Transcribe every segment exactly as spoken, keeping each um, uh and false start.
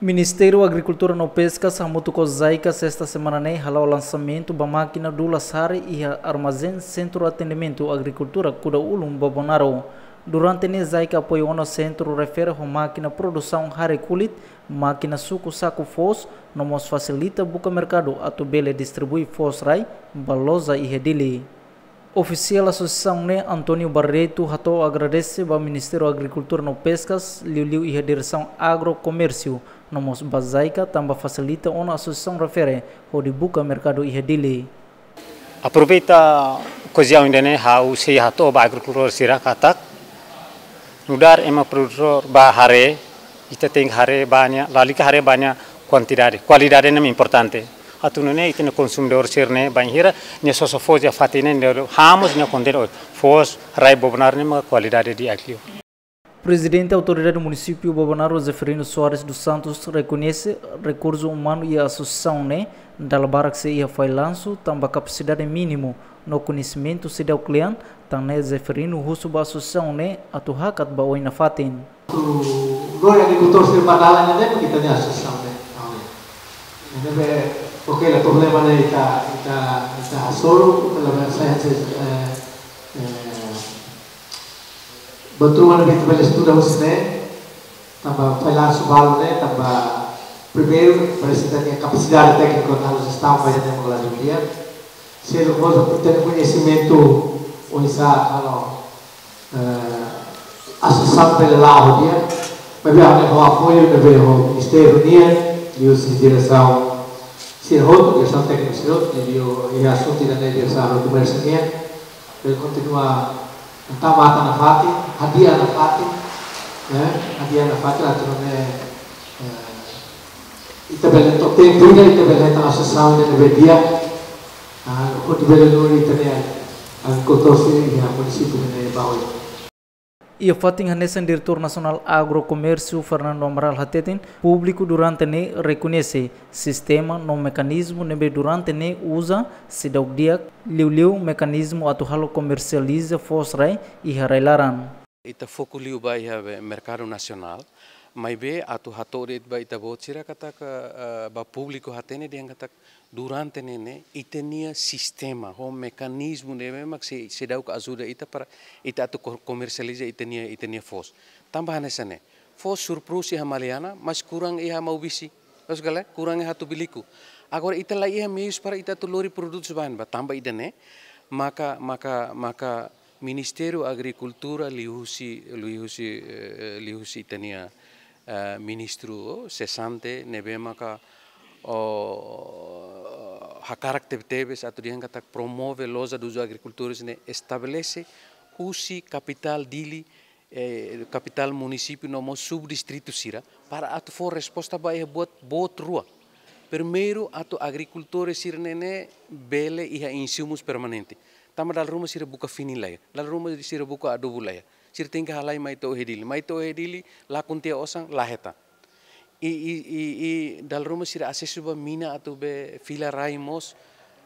Ministériu Agrikultura no Peskas hamutuk ho JICA sesta semana ne'e hala'o lansamentu ba mákina dulas hare iha armazén Sentru Atendimentu Agrikultura Kuda Ulun Bobonaro. Durante ne'e JICA apoiu ona sentru refere ho mákina produsaun hare kulit, mákina suku saku foos, no mós fasilita buka merkadu atu bele distribui foos rai ba loja iha Dili. Ofisiál asosiasaun ne'e António Barreto hato'o agradese ba Ministériu Agrikultura no Peskas, liuliu iha Diresaun Agrokomérsiu, no mós ba JICA tanba fasilita ona asosiasaun refere hodi buka merkadu iha Dili. Aproveita okaziaun ida-ne'e ha'u sei hato'o ba agrikultór sira katak nu'udar ema produtór ba haree, ita tenke haree ba nia, lalika haree ba nia kuantidade. Kualidade ne'e importante. Atu nune'e ita-nia konsumidór sira-ne'e bainhira nia sosa foos iha fatin ne'e, nia hamos nia kontente, oh, foos rai Bobonaro ne'e mak kualidade di'ak liu. Prezidente Autoridade Munisípiu Bobonaro Zeferino Soares dos Santos rekoñese rekursu umanu iha asosiasaun ne'e dala barak sei iha fallansu tanba kapasidade mínimu no koñesimentu seidauk kle'an, tan ne'e Zeferino husu ba asosiasaun ne'e atu hakat ba oin nafatin. Lori agrikultór sira ba dalan ne'e mak ita-nia asosiasaun ne'e. Ne'ebé, oke, la problema ne'e ita, ita, ita hasoru, ita la bele sai hanesan, eh, eh, buat ruma ne'ebé ita bele estuda husi ne'e, tanba fallansu balu ne'e, tanba primeiru, parese ita-nia kapasidade tékniku atu halo jestaun ba ita-nia mogaladu dia. Seluk mós ita-nia koñesimentu oinsá halo, eh, asosiasaun bele la'o di'ak. Maibé ami ho apoiu ne'ebé ho ministériu nian, liuhusi diresaun sira hotu, diresaun tékniku sira hotu, liuliu iha asuntu ida-ne'e diresaun komérsiu nian. Bele kontinua tau matan nafatin, hadi'a nafatin, eh, hadi'a nafatin atu nune'e, eh, ita bele to'o tempu ida, ita bele hetan asosiasaun ida ne'ebé di'ak, ah, hodi bele lori ita-nia agrikultór sira iha munisípiu ne'e ba oin. Iha fatin hanesan Diretór Nasionál Agrokomérsiu Fernando Amaral hateten, públiku durante ne'e rekoñese sistema no mekanizmu ne'ebé durante ne'e uza seidauk di'ak, liuliu mekanizmu atu halo komersializa foos rai iha rai-laran. Ita foku liu ba iha be merkadu nasionál, maibé atu hato'o de'it ba ita-boot sira katak, eh, ba públiku hatene dehan katak durante ne'e ne'e ita-nia sistema ho mekanizmu ne'ebé mak sei, seidauk ajuda ita para ita atu ko-, komersializa ita-nia, ita-nia foos. Tanba hanesan ne'e, foos surplus iha Maliana, mas kurang iha Maubisse. Loos ka lae, kurang iha Tumbiliku. Agora ita la iha meius para ita atu lori produtus ba ne'ebá, tanba ida-ne'e, maka, maka, maka Ministériu Agrikultura liuhusi, liuhusi, eh, liuhusi ita-nia, eh, ministru, oh, sesante, ne'ebé maka, oh, hakarak tebetebes atu dehan katak promove loja dos agricultores ne'e estabelese husi kapitál Dili, eh, kapitál munisípiu no mós subdistritu sira, para atu fó resposta ba iha buat, buat rua. Primeiru, atu agrikultór sira-ne'e ne'e bele iha insumus permanente. Tanba dala ruma sira buka fini la iha, dala ruma sira buka adubu la iha. Sira tenke halai mai to'o iha Dili. Mai to'o iha Dili, lakon tiha osan, la hetan. I, i, i, i dala ruma sira asesu ba mina atu be fila rai mós,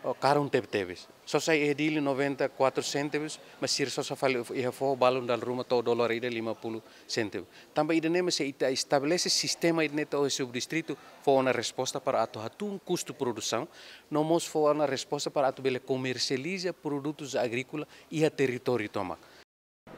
oh, karun tebetebes. Sosa iha Dili noventa e quatro cêntimos, mas sira sosa fali iha foho balun dala ruma to'o dolar ida lima puluh cêntimos. Tanba ida-ne'e mak se ita estabelese sistema ida-ne'e to'o iha subdistritu, fó ona resposta para atu hatún kustu produsaun, no mós fó ona resposta para atu bele komersializa produtus agríkola iha territóriu tomak.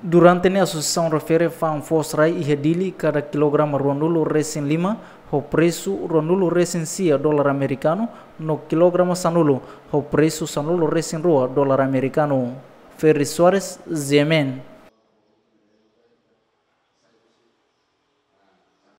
Durante ne'e asosiasaun refere fa'an foos rai iha Dili kada kilograma ruanulu resin lima ho presu ruanulu resin sia dolar amerikanu, no kilograma sanulu ho presu sanulu resin rua dolar amerikanu. Ferry Soares, G M N.